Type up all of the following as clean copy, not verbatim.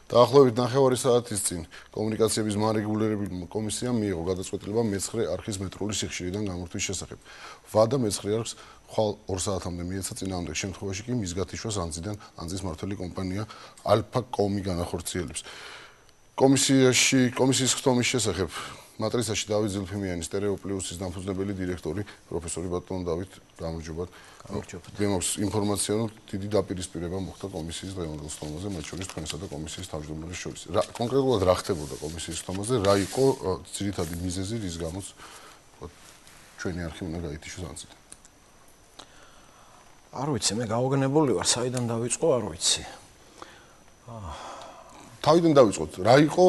დაახლოებით 9 საათის წინ კომუნიკაციების მარეგულირებელ კომისიამ მიიღო გადაწყვეტილება მეცხრე არხის მეტრული სიხშირიდან გამორთვის შესახებ. ვადა მეცხრე არხს ხვალ 2 საათამდე მიეცა წინააღმდეგ შემთხვევაში კი მის გათიშვას ანძის მმართველი კომპანია ალფა-კომი განახორციელებს. კომისიის ხდომის შესახებ მატრიცაში დავით ზილფიმიანის სტერეოპლუსის დამფუძნებელი დირექტორი პროფესორი ბატონ დავით გამარჯობათ. გვემაქვს ინფორმაცია, რომ დიდი დაპირისპირება მოხდა კომისიის დღევანდელ ხდომაზე, მათ შორის თქვენსა და კომისიის თავმჯდომარის შორის. კონკრეტულად რა ხდებოდა კომისიის ხდომაზე, რა იყო ძირითადი მიზეზი, რის გამოც ჩვენი არხი უნდა გაითიშოს ანძიდან? არ ვიცი, მე გავაგნებული ვარ, საიდან დავიწყო, არ ვიცი. თავიდან დავიწყოთ, რა იყო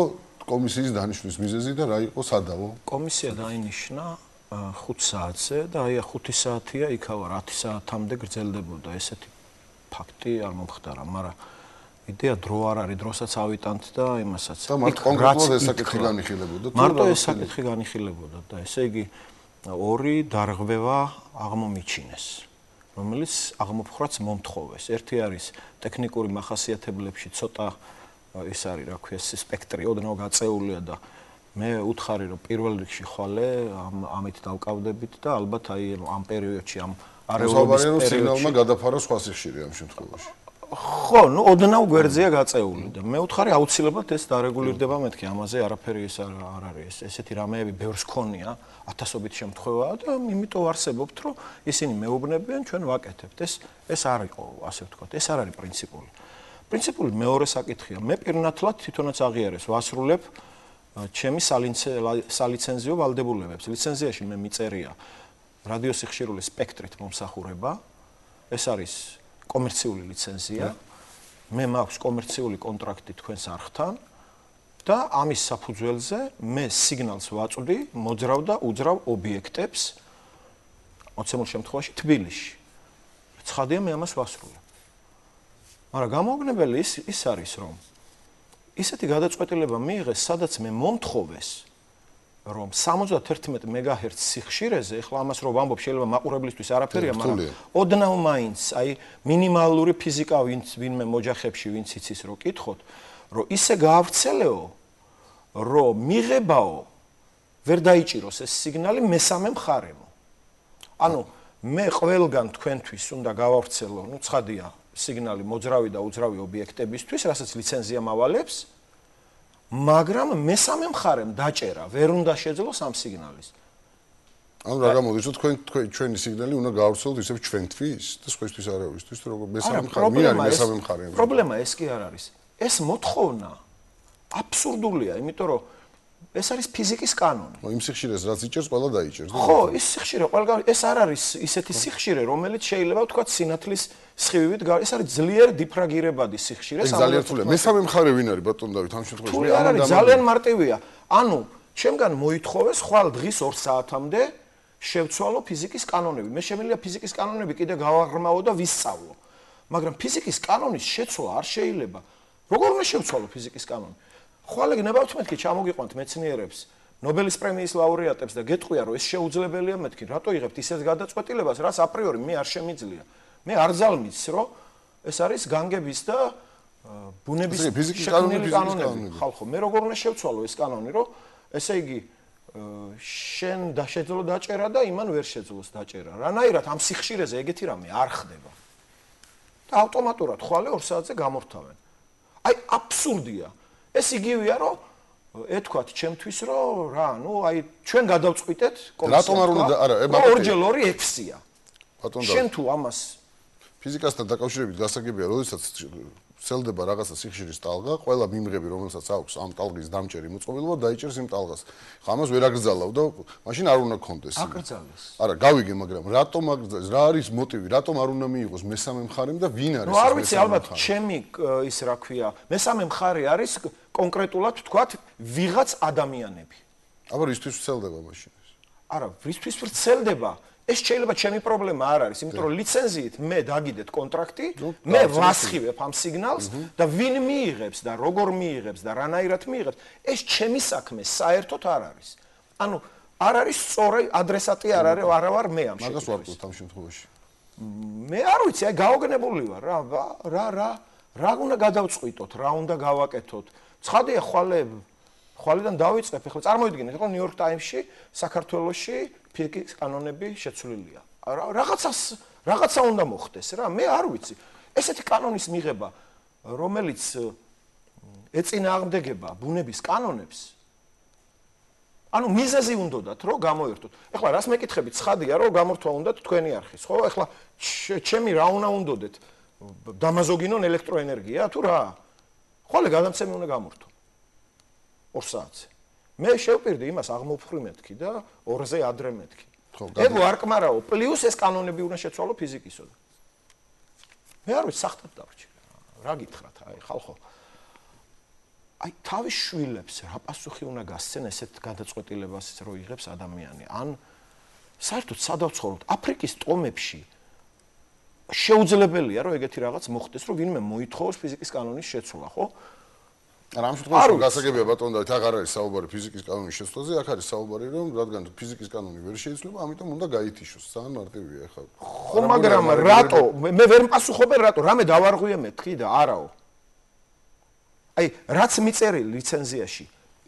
კომისიის დანიშვნის მიზეზი და რა იყო სადავო? კომისია დაინიშნა 5 საათზე და აი 5 საათია იქავა 10 საათამდე გრძელდებოდა ესეთი ფაქტი არ მომხდარა, მაგრამ იდეა დრო არ არის, დროსაც ავიტანთ და იმასაც. და მარტო კონკრეტულად ეს საკითხი განიხილებოდა. მარტო ეს საკითხი განიხილებოდა და ესე იგი ორი დარღვევა აღმომიჩინეს, რომელიც აღმოფხრაც მომთხოვეს. ერთი არის ტექნიკური მახასიათებლებში ცოტა ეს არის, რა ქვია, სპექტრი ოდნავ გაწეულია და მე უთხარი რომ პირველ რიგში ხვალე ამით დავკავდებით და ალბათ აი ამ პერიოდში ამ არეულობის პერიოდში სიგნალმა გადაფარა სხვა სიხშირე ამ შემთხვევაში. ხო, ნუ ოდნავ გვერდზეა გაწეული და მე უთხარი აუცილებლად ეს დარეგულირდება მეთქი, ამაზე არაფერი ეს არ არის, ესეთი რამეები ბევრს ქონია, ათასობით შემთხვევაა და იმიტომ არსებობთ, რომ ისინი მეუბნებიან, ჩვენ ვაკეთებთ. ეს არ იყო, ასე ვთქვათ, ეს არ არის პრინციპული. პრინციპული მეორე საკითხია. მე პირნათლად თვითონაც აღიარეს ვასრულებ ჩემი სალიცენზიო ვალდებულებებს. ლიცენზიაში მე მიწერია რადიოსიხშირული სპექტრით მომსახურება. ეს არის კომერციული ლიცენზია. მე მაქვს კომერციული კონტრაქტი თქვენს არხთან და ამის საფუძველზე მე სიგნალს ვაწვდი მოძრავ და უძრავ ობიექტებს მოცემულ შემთხვევაში თბილისში. ცხადია მე ამას ვასრულებ. მაგრამ გამოგნებელი ის არის, რომ ისეთი გადაწყვეტილება მიიღეს, სადაც მე მომთხოვეს, რომ 71 მეგაჰერცს სიხშირეზე, ეხლა ამას რომ ვამბობ, შეიძლება მაყურებლისთვის არაფერია, მაგრამ ოდნავ მაინც, აი მინიმალური ფიზიკა ვინმე მოჯახებში ვინც იცის რომ კითხოთ, რომ ისე გაავრცელეო, რომ მიღებაო ვერ დაიჭიროს ეს სიგნალი მესამე მხარემო. ანუ მე ყველგან თქვენთვის უნდა გავავრცელო, ნუ ცხადია სიგნალი მოძრავი და უძრავი ობიექტებისთვის, რასაც ლიცენზია მავალებს, მაგრამ მესამე მხარემ დაჭერა ვერ უნდა შეძლოს ამ სიგნალის. ანუ რა გამოდის, რომ ჩვენი სიგნალი უნდა გავავრცელოთ ისევ ჩვენთვის და სხვისთვის არავისთვის, რომ მესამე მხარე მე არის მესამე მხარე. პრობლემა ეს კი არ არის. ეს მოთხოვნა აბსურდულია, იმიტომ რომ ეს არის ფიზიკის კანონი. იმ სიხშირეს რაც იჭერს, ყველა დაიჭერს. ხო, ის სიხშირე ყველგან ეს არ არის ისეთი სიხშირე, რომელიც შეიძლება ვთქვათ სინათლის სხივივით, ეს არის ძლიერ დიფრაგირებადი სიხშირე. ძალიან რთულია. მესამე მხარე ვინ არის ბატონ დავით ამ შემთხვევაში? მე ამან ძალიან მარტივია. ანუ ჩემგან მოითხოვეს ხვალ დღის 2 საათამდე შევცვალო ფიზიკის კანონები. მე შემიძლია ფიზიკის კანონები კიდე გავაღრმავო და ვისწავლო. მაგრამ ფიზიკის კანონის შეცვლა არ შეიძლება. როგორ უნდა შევცვალო ფიზიკის კანონი? ხვალ გნებავთ მეთქი ჩამოგიყვანთ მეცნიერებს, ნობელის პრემიის ლაურეატებს და გეტყვია რომ ეს შეუძლებელია მეთქი, რატო იღებთ ისეთ გადაწყვეტილებას, რაც აპრიორი მე არ შემიძლია. მე არ ძალმის, რომ ეს არის განგების და ბუნების შექმნილი კანონები. ხალხო, მე როგორ უნდა შევცვალო ეს კანონი, რომ ესე იგი შენ შეძლო დაჭერა და იმან ვერ შეძლოს დაჭერა. რანაირად ამ სიხშირეზე ეგეთი რამე არ ხდება. და ავტომატურად ხვალე 2 საათზე გამორთავენ. აი აბსურდია. ეს იგივეა, რომ ეთქვათ ჩემთვის, რომ რა, ნუ აი ჩვენ გადავწყვიტეთ კომისიას. რატომ არ უნდა არა, 2 × 2 6-ია. ბატონ შენ თუ ამას ფიზიკასთან დაკავშირებით გასაგებია, როდესაც სელდება რაღაცა სიხშირის ტალღა, ყველა მიმღები, რომელსაც აქვს ამ ტალღის დამჭერი მოწყობილობა, დაიჭერს იმ ტალღას. ხა ამას ვერ აკრძალავ და მაშინ არ უნდა გქონდეს. აკრძალეს. არა, გავიგე, მაგრამ რატომ აკრძალეს? რა არის მოტივი? რატომ არ უნდა მიიღოს მესამე მხარემ და ვინ არის ეს მესამე მხარე? ნუ არ ვიცი, ალბათ ჩემი ის რა ქვია, მესამე მხარე არის კონკრეტულად ვთქვათ, ვიღაც ადამიანები. აბა რისთვის ვრცელდება მაშინ ეს? არა, რისთვის ვრცელდება? ეს შეიძლება ჩემი პრობლემა არ არის, იმიტომ რომ ლიცენზიით მე დაგიდეთ კონტრაქტი, მე ვასხივებ ამ სიგნალს და ვინ მიიღებს და როგორ მიიღებს და რანაირად მიიღებს, ეს ჩემი საქმე საერთოდ არ არის. ანუ არ არის სწორი ადრესატი არ ვარ მე ამ შემთხვევაში. მაგას ვარკვევთ ამ შემთხვევაში. მე არ ვიცი, აი გაოგნებული ვარ რა რა უნდა გადავწყვიტოთ, რა უნდა გავაკეთოთ. ცხადია ხვალიდან დავიწყებ, ახლა წარმოიდგინეთ, ახლა New York Times-ში საქართველოში ფიზიკის კანონები შეცვლილია. რაღაცა უნდა მოხდეს რა, მე არ ვიცი. ესეთი კანონის მიღება, რომელიც ეწინააღმდეგება ბუნების კანონებს, ანუ მიზეზი უნდათ, რომ გამოერთოთ. ახლა რას მეკითხებით, ცხადია, რომ გამორთვა უნდათ თქვენი არხის, ხო? ახლა ჩემი რა უნდა უნდოდეთ? დამაზოგინონ ელექტროენერგია თუ რა? ხოლე გადამცემი უნდა გამორთო. 2 საათზე. მე შევპირდი იმას აღმოფხვრი მეთქი და 2-ზე ადრე მეთქი. ეგო არ კმარაო, პლუს ეს კანონები უნდა შეცვალო ფიზიკისო. მე არ ვიცი, სახტად დავრჩი. რა გითხრათ, აი ხალხო. აი თავის შვილებს რა პასუხი უნდა გასცენ ესეთ გადაწყვეტილებას რო იღებს ადამიანი. ან საერთოდ სადავ ცხოვრობთ? აფრიკის ტომებში შეუძლებელია რომ ეგეთი რაღაც მოხდეს, რომ ვინმე მოითხოვოს ფიზიკის კანონის შეცვლა, ხო? რამ შემთხვევაში გასაგებია ბატონო და აქ არ არის საუბარი ფიზიკის კანონის შეცვლაზე, აქ არის საუბარი რომ რადგან ფიზიკის კანონი ვერ შეიცვლება, ამიტომ უნდა გაითიშოს. ძალიან მარტივია ახლა. ხო, მაგრამ რატო? მე ვერ მპასუხობენ რატო? რამე დავარღვიე მეთქი და არაო. აი, რაც მიწერილი ლიცენზიაში,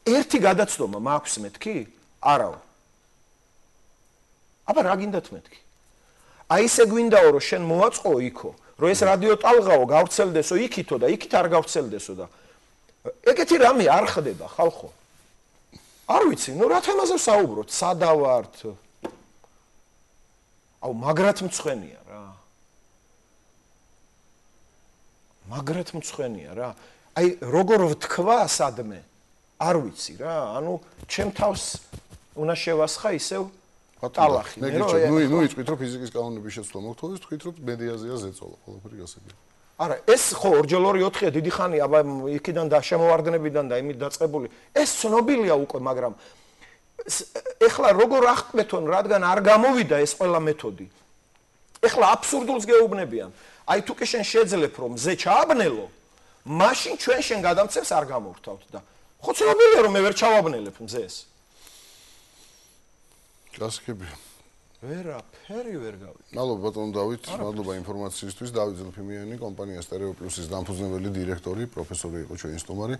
ერთი გადაცდომა მაქვს მეთქი? არაო. აბა რა გინდათ მეთქი? აი ესე გვინდაო რომ შენ მოაწყო იქო, რომ ეს რადიო ტალღაო გავრცელდესო იქითო და იქით არ გავრცელდესო და ეგეთი რამე არ ხდება ხალხო. არ ვიცი, ნუ რა თემაზე ვსაუბრობთ? სადავართ? აუ მაგრად მწვენია რა. მაგრად მწვენია რა. აი როგორ ვთქვა სადმე? არ ვიცი რა. ანუ ჩემ თავს უნდა შევასხა ისევ ტალახი. ნუ იწვით რომ ფიზიკის კანონების შეცვლა მოგთხოვდეს, თქვით რომ მედიაზეა ზეწოლა, ყველაფერი გასაგებია. არა, ეს ხო 2-2-4-ია დიდი ხანი, აბა იქიდან და შემოვარდნებიდან და იმით დაწყებული. ეს ცნობილია უკვე, მაგრამ ეხლა როგორ აღკვეთონ, რადგან არ გამოვიდა ეს ყველა მეთოდი. ეხლა აბსურდულს გეუბნებიან. აი თუ კი შენ შეძლებ რომ მზე ჩააბნელო, მაშინ ჩვენ შენ გადამცემს არ გამოვრთავთ და ხო ცნობილია რომ მე ვერ ჩავაბნელებ მზეს. გასაგებია. ვერაფერი ვერ გავიგე. მადლობა ბატონო დავით, მადლობა ინფორმაციისთვის. დავით ზელფიმიანი, კომპანია სტერეო პლუსის დამფუძნებელი დირექტორი, პროფესორი იყო ჩვენი სტუმარი.